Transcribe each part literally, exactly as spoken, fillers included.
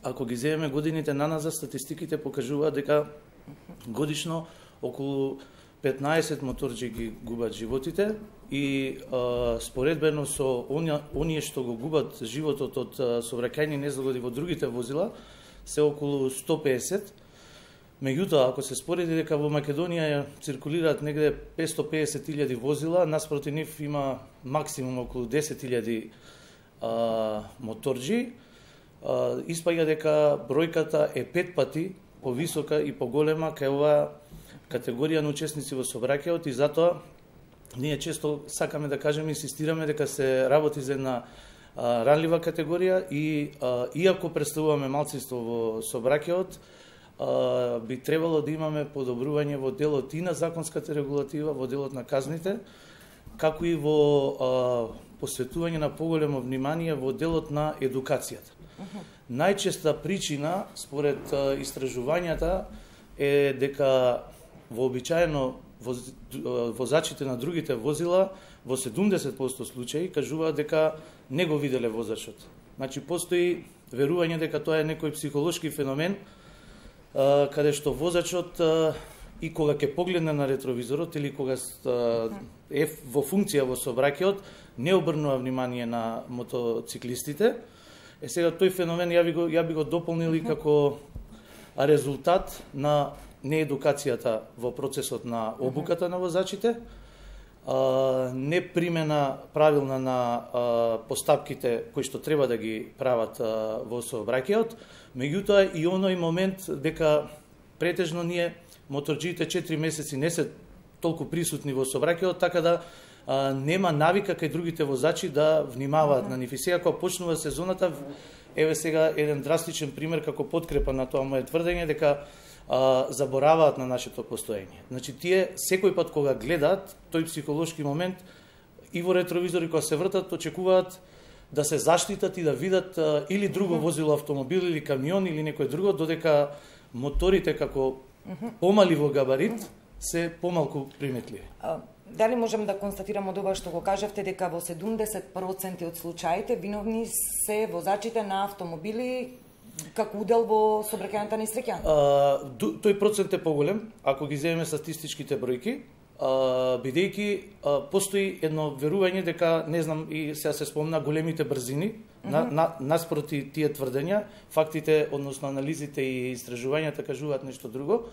ако ги земеме годините наназад, статистиките покажуваат дека годишно околу петнаесет моторџи ги губат животите и а, споредбено со оние, оние што го губат животот од сообраќајни незгоди во другите возила се околу сто песет. Меѓутоа, ако се спореди дека во Македонија циркулираат негде петстотини и песет илјади возила, наспроти нив има максимум околу десет илјади моторџи, а, испаѓа дека бројката е пет пати повисока и поголема кај оваа категорија на учесници во сообраќајот, и затоа ние често сакаме да кажеме, инсистираме дека се работи за една а, ранлива категорија и а, иако представуваме малцинство во сообраќајот, а, би требало да имаме подобрување во делот и на законската регулатива, во делот на казните, како и во а, посветување на поголемо внимание во делот на едукацијата. Uh-huh. Најчеста причина, според а, истражувањата, е дека вообичаено воз, возачите на другите возила во седумдесет проценти случаи кажуваат дека не го виделе возачот. Значи, постои верување дека тоа е некој психолошки феномен, а, каде што возачот а, и кога ќе погледне на ретровизорот или кога а, е во функција во сообраќајот, не обрнува внимание на мотоциклистите. Е сега тој феномен ја би го, ја би го дополнил и како резултат на неедукацијата во процесот на обуката на возачите, а, не примена правилна на а, постапките кои што треба да ги прават а, во сообраќајот, меѓутоа и оној момент дека претежно ние моторџиите четири месеци не се толку присутни во сообраќајот, така да а, нема навика кај другите возачи да внимаваат на нив. И сега кога почнува сезоната, еве сега еден драстичен пример како подкрепа на тоа мое тврдење дека а, забораваат на нашето постоење. Значи, тие секој пат кога гледаат тој психолошки момент и во ретровизори кога се вртат, очекуваат да се заштитат и да видат а, или друго возило, автомобил или камион или некој друго, додека моторите како помали во габарит се помалку приметливи. Дали можем да констатираме од ова што го кажавте дека во седумдесет проценти од случаите виновни се возачите на автомобили како удел во сообраќајната несреќа? Тој процент е поголем ако ги земеме статистичките бројки, бидејќи постои едно верување дека, не знам, и сега се спомна големите брзини, mm-hmm. на, на, наспроти тие тврдења, фактите, односно анализите и истражувањата кажуваат нешто друго.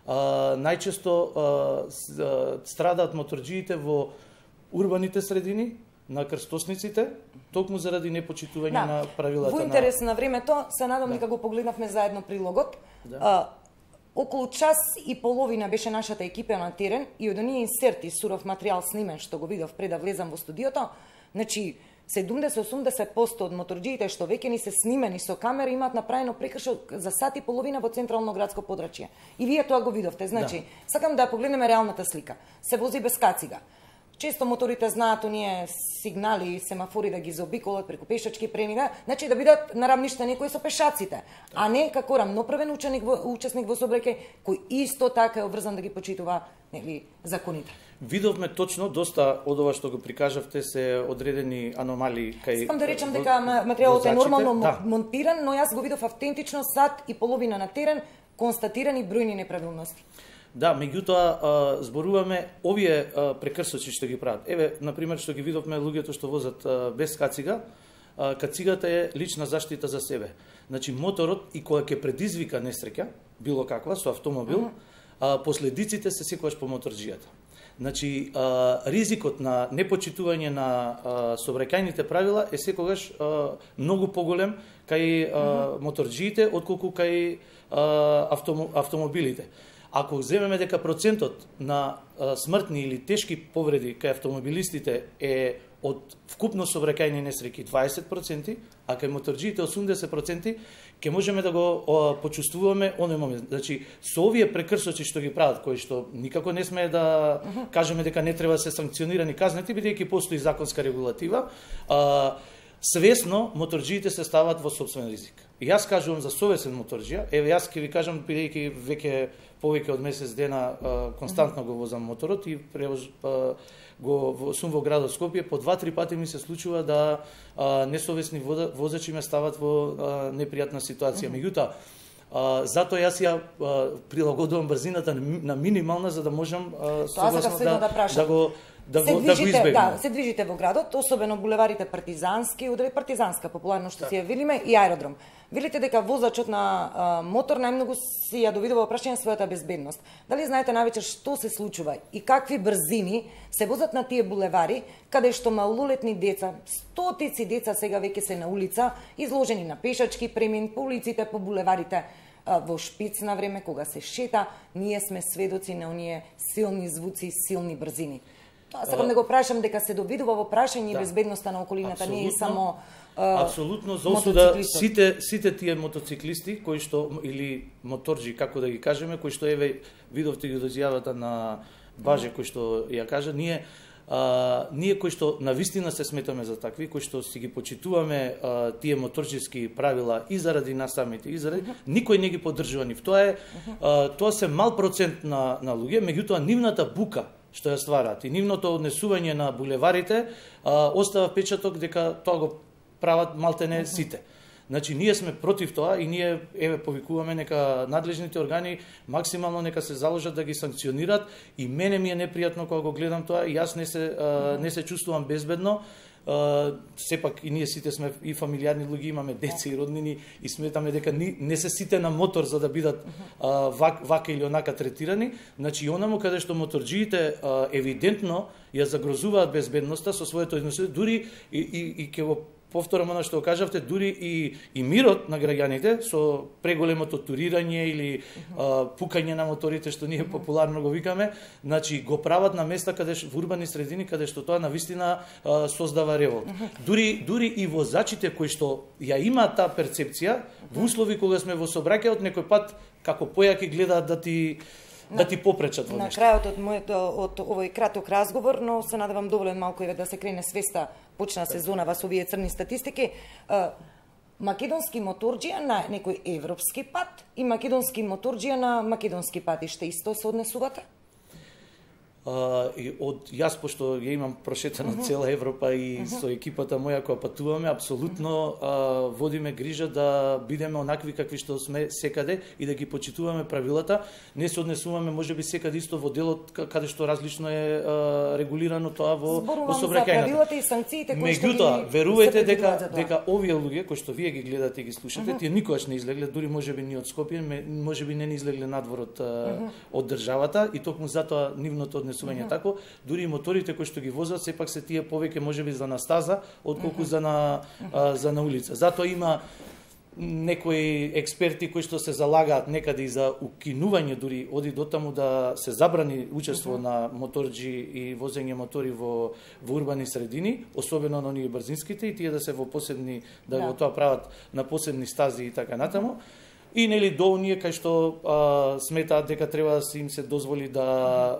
А, најчесто а, страдаат моторџиите во урбаните средини, на крстосниците, токму заради непочитување да. на правилата. Во интерес на, на времето, се надам дека да. го погледнавме заедно прилогот. Да. А, околу час и половина беше нашата екипа на терен и од оние инсерти суров материјал снимен што го видов пред да влезам во студиото, значи седумдесет до осумдесет проценти од моторџиите што веќе ни се снимени со камера имаат направено прекршок за сат и половина во централно градско подрачје. И вие тоа го видовте. Значи, да. сакам да погледнеме реалната слика. Се вози без кацига. Често моторите знаат оние сигнали и семафори да ги заобиколат преку пешачки премига, значи да бидат нарамништени кои со пешаците, а не како рамноправен ученик во, учесник во сообраќај кој исто така е обврзан да ги почитува, нели, законите. Видовме точно доста од ова што го прикажавте се одредени аномалии кај. Сакам да речам дека материјалот е нормално да. монтиран, но јас го видов автентично сат и половина на терен, констатирани бројни неправилности. Да, меѓутоа зборуваме овие а, прекрсоци што ги прават. Еве, на пример, што ги видовме луѓето што возат а, без кацига, а, кацигата е лична заштита за себе. Значи, моторот и кога ќе предизвика несреќа, било каква, со автомобил, uh -huh. а, последиците се секогаш по моторџијата. Значи, а, ризикот на непочитување на а, сообраќајните правила е секогаш а, многу поголем кај а, uh -huh. моторџиите, отколку кај а, автом, автомобилите. Ако земеме дека процентот на а, смртни или тешки повреди кај автомобилистите е од вкупно сообраќајни несреќи дваесет проценти, а кај моторџиите осумдесет проценти, ќе можеме да го а, почувствуваме оној момент. Значи, со овие прекрсоци што ги прават, кои што никако не сме да uh -huh. кажеме дека не треба да се санкционирани казнети, бидејќи постои законска регулатива, а, свесно моторџиите се стават во сопствен ризик. Јас кажувам за совесен моторџија, еве јас ќе ви кажам, бидејќи веќе повеќе од месец дена а, константно го возам моторот и превоз а, го сум во градот Скопје, по два-три пати ми се случува да а, несовесни возачи ме стават во а, непријатна ситуација. Mm -hmm. Меѓутоа, а, затоа јас ја а, прилагодувам брзината на минимална за да можам а, согласно да, да, да го да се го, движите, да го избегнем. Да, се движите во градот, особено булеварите Партизански, удари партизанска популарно што си ја велиме и аеродром. Велите дека возачот на а, мотор најмногу си ја довидува прашање својата безбедност. Дали знаете навечер што се случува и какви брзини се возат на тие булевари, каде што малолетни деца, стотици деца сега веќе се на улица, изложени на пешачки премин по улиците, по булеварите, во шпиц на време, кога се шета, ние сме сведоци на оние силни звуци и силни брзини. Тоа сакам да го прашам дека се довидува во прашање и да. безбедноста на околината, не е само а, апсолутно, за осуда сите сите тие мотоциклисти кои што или моторџи, како да ги кажеме, кои што еве видовте ги изјавата на Баже кој што ја кажа, ние а, ние кои што навистина се сметаме за такви, кои што си ги почитуваме а, тие моторџиски правила и заради нас самите, и заради uh -huh. никој не ги поддржува нив. Тоа е а, тоа се мал процент на на луѓе, меѓутоа нивната бука што ја стварат и нивното однесување на булеварите а, остава печаток дека тоа го прават малтене сите. Значи, ние сме против тоа и ние еве повикуваме нека надлежните органи максимално нека се заложат да ги санкционират и мене ми е непријатно кога го гледам тоа и јас не се а, не се чувствувам безбедно. Uh, сепак и ние сите сме и фамилиарни луѓе, имаме деца и роднини и сметаме дека ни, не се сите на мотор за да бидат uh, вак, вака или онака третирани. Значи, онаму каде што моторџиите uh, евидентно ја загрозуваат безбедноста со своето однесување, дури и, и, и ке го повторам она што кажавте, дури и, и мирот на граѓаните со преголемото турирање или а, пукање на моторите, што ние популарно го викаме, значи го прават на места каде во урбани средини каде што тоа навистина а, создава револт. Дури дури и возачите кои што ја имаат таа перцепција, во услови кога сме во сообраќајот некој пат како појаки гледаат да ти да ти попречат во нешто. На крајот од мојот од овој краток разговор, но се надевам доволен малку еве да се крене свеста, почна сезона со овие црни статистики. Македонски моторџија на некој европски пат и македонски моторџија на македонски патишта исто се однесувате? Uh, и од јас пошто ја имам прошетена uh -huh. цела Европа и uh -huh. со екипата моја која патуваме, апсолутно uh, водиме грижа да бидеме онакви какви што сме секаде и да ги почитуваме правилата. Не се однесуваме можеби секаде исто во делот каде што различно е uh, регулирано тоа во во сообраќајната. Правилата и санкциите кои што Меѓутоа, верувајте дека дека овие луѓе кои што вие ги гледате и ги слушате, uh -huh. тие никогаш не излегле, дури можеби ни од Скопје, можеби не ни излегле надвор од uh, uh -huh. од државата и токму затоа нивното однесување uh -huh. тако, дури и моторите кои што ги возат сепак се тие повеќе можеби за на стаза отколку uh -huh. за на а, за на улица. Затоа има некои експерти кои што се залагаат некаде и за укинување, дури оди до таму да се забрани учество uh -huh. на моторџи и возење мотори во во урбани средини, особено на оние брзинските и тие да се во посебни да го yeah. тоа прават на посебни стази и така натаму. Uh -huh. И нели до оние кај што а, сметаат дека треба да се им се дозволи да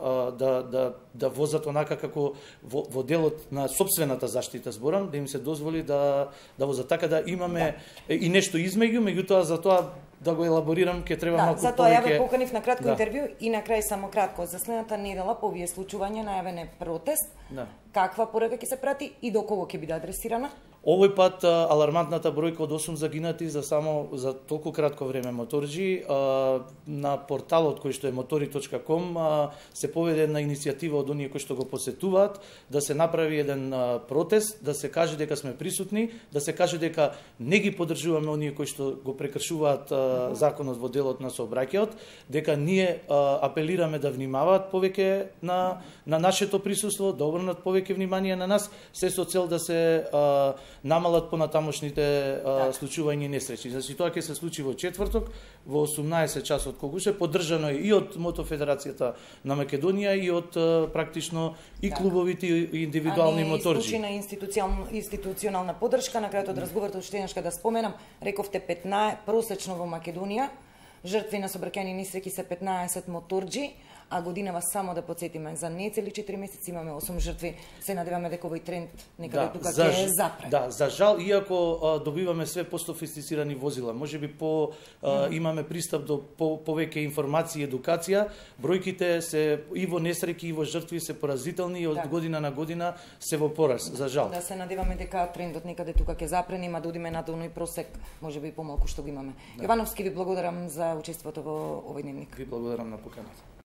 а, да да да возат онака како во, во делот на сопствената заштита зборам, да им се дозволи да да возат така да имаме да. и нешто измеѓу, меѓутоа за тоа да го елаборирам ќе треба да, малку затоа повеќе. Затоа ја ве поканив на кратко да. интервју и на крај само кратко за следната недела по овие случувања најавен е протест. Да. Каква порака ќе се прати и до кого ќе биде адресирана? Овој пат алармантната бројка од осум загинати за само за толку кратко време моторџи. На порталот кој што е мотори точка ком се поведе една иницијатива од оние кои што го посетуваат да се направи еден протест, да се каже дека сме присутни, да се каже дека не ги поддржуваме оние кои што го прекршуваат законот во делот на сообраќајот, дека ние апелираме да внимаваат повеќе на на нашето присуство, да обрнат повеќе внимание на нас, се со цел да се намалат понатамошните а, случувања и несреќи. Значи тоа ќе се случи во четврток во осумнаесет часот когуше, поддржано е и од Мотофедерацијата на Македонија и од а, практично и да. клубовите и индивидуални моторџи. А не институционална, институционална поддршка, на крајот од разговорот уште еднаш да споменам, рековте петнаесет просечно во Македонија, жртви на сообраќајни несреќи се петнаесет моторџи, а годинава само да подсетиме за нецели четири месеци имаме осум жртви. Се надеваме дека овој тренд некаде да, тука ќе запре. Да, за жал, иако а, добиваме све по-софистицирани возила, можеби по а, mm. имаме пристап до по, повеќе информации и едукација, бројките се и во несреќи и во жртви се поразителни и од да. година на година се во пораст, за жал. Да се надеваме дека трендот некаде тука ќе запре, нема да одиме на долној просек, можеби и помалку што го имаме. Да. Јовановски, ви благодарам за учеството во овој дневник. Ви благодарам на поканата.